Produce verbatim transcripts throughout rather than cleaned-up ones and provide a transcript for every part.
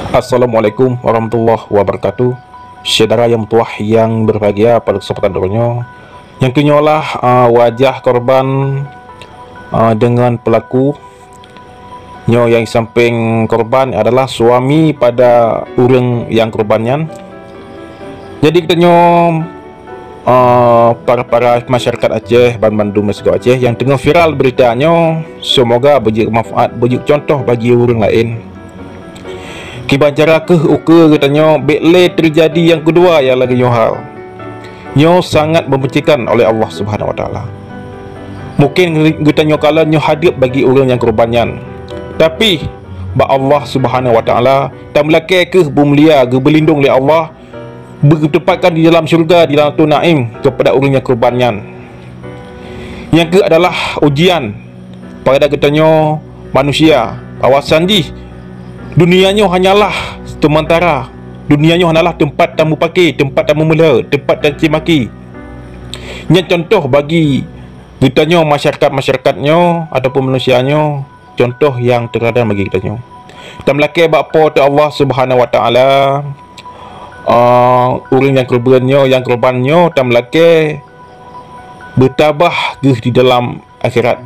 Assalamualaikum warahmatullahi wabarakatuh. Syedara nyang meutuwah nyang berbahagia, pada kesempatan droeneuh nyoe, nyang keunyoe lah, ah, wajah korban, ah, dengan pelaku. Nyoe nyang sampéng korban adalah suami pada ureuëng nyang korban nyan. Jadi geutanyoe, eh, para-para masyarakat Aceh, banmandum sigoe Aceh nyang teungoh viral beurita nyoe, seumoga beujeuet manfaat, beujeuet cuntoh bagi ureuëng laén. Kiban cara kheueh ukeue geutanyoe bék lé teujadi nyang keudua nyang lagée nyoe hal. Nyoe sangat membenarkan oleh Allah Subhanahu Wa Taala. Mungkin geutanyoe kalon nyoe hadeueb bagi ureuëng nyang korban nyan. Tapi, bak Allah Subhanahu Wa Taala, tameulakée kheueh beumulia, geubeulindong lé Allah, beuteupatkan di dalam syeuruga, di dalam Jannatul Naim keupada ureuëng nyang korban nyan. Nyang kheueh adalah ujian pada geutanyoe manusia, bahwasan jih dunia nyoe hanyalah seumeuntara. Dunia nyoe hanyalah teumpat tamupaké, teumpat tamumeulhé, teumpat tacaci maki. Nyan cuntoh bagi geutanyoe masyarakat-masyarakat nyoe ataupun manusia nyoe, cuntoh nyang teuladan bagi geutanyoe. Tameulakée bak Po teu Allah Subhanahu Wa Taala, ah, ureuëng nyang keureubeuen nyoe, nyang korban nyoe, tameulakée beutabah geuh di dalam akhirat,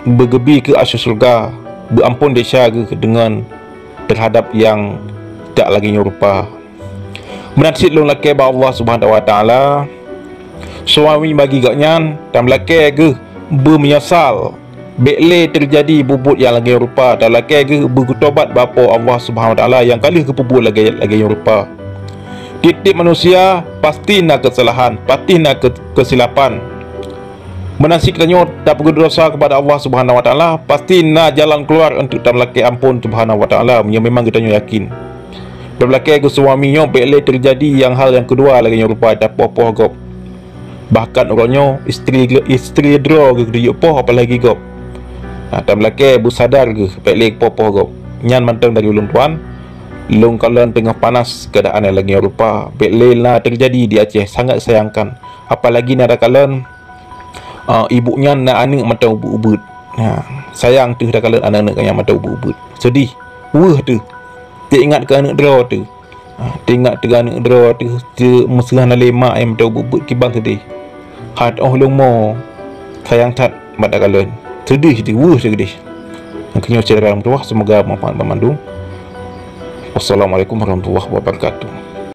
beugeubi keu asoe syeuruga, beuamphon desya geuh deungon teuhadab nyang jak lagée nyoe rupa. Meunan cit lôn lakée bak Allah Subhanahu Wa Taala, suami bagi gobnyan tameulakée geuh beumeunyeusal, bék lé teujadi bubuet nyang lagée nyoe rupa, tameulakée geuh beugeutobat bak Po Allah Subhanahu Wa Taala nyang ka lheueh geupeubuet lagée, lagée nyoe rupa. Tieb-tieb manusia pasti na keusalahan, pasti na ke-, keusilapan. Meunan cit geutanyoe tapeugét desya keupada Allah Subhanahu Wa Taala, pasti na jalan keuluar untuk tameulakée amphon Subhanahu Wa Taala, meunyoe memang geutanyoe yakin. Tameulakée geuh suami nyoe bék lé teujadi nyang hal nyang keudua lagée nyoe rupa tapoh-poh gob. Bahkan uroe nyoe istri, istri droe geuh geuyue poh apalagi gob. Nah, tameulakée beusadar geuh bék lé poh-poh gob. Nyan mantong dari ulôn tuan, lôn kalon teungoh panas keuadaan nyang lagée nyoe rupa, bék lé na teujadi di Aceh, sangat sayangkan. Apalagi na takalon, ah, ibu nyan na aneuëk mantong ubeuet-ubeuet. Ha, sayang teuh takalon aneuëk-aneuëk nyan mantong ubeuet-ubeuet. Seudeh, weueh teuh. Teuingat keu aneuëk droe teuh. Ha, teuingat keu aneuëk droe teuh, teuh meuseuha na lé mak nyang mantong ubeuet-ubeuet kiban seudeh. Hat óh lôn mo, sayang that mat takalon. Seudeh teuh, weueh teuh keudeh. Nyang keunyoe syedara meutuwah, seumoga manfaat banmandum. Wassalamualaikum warahmatullahi wabarakatuh.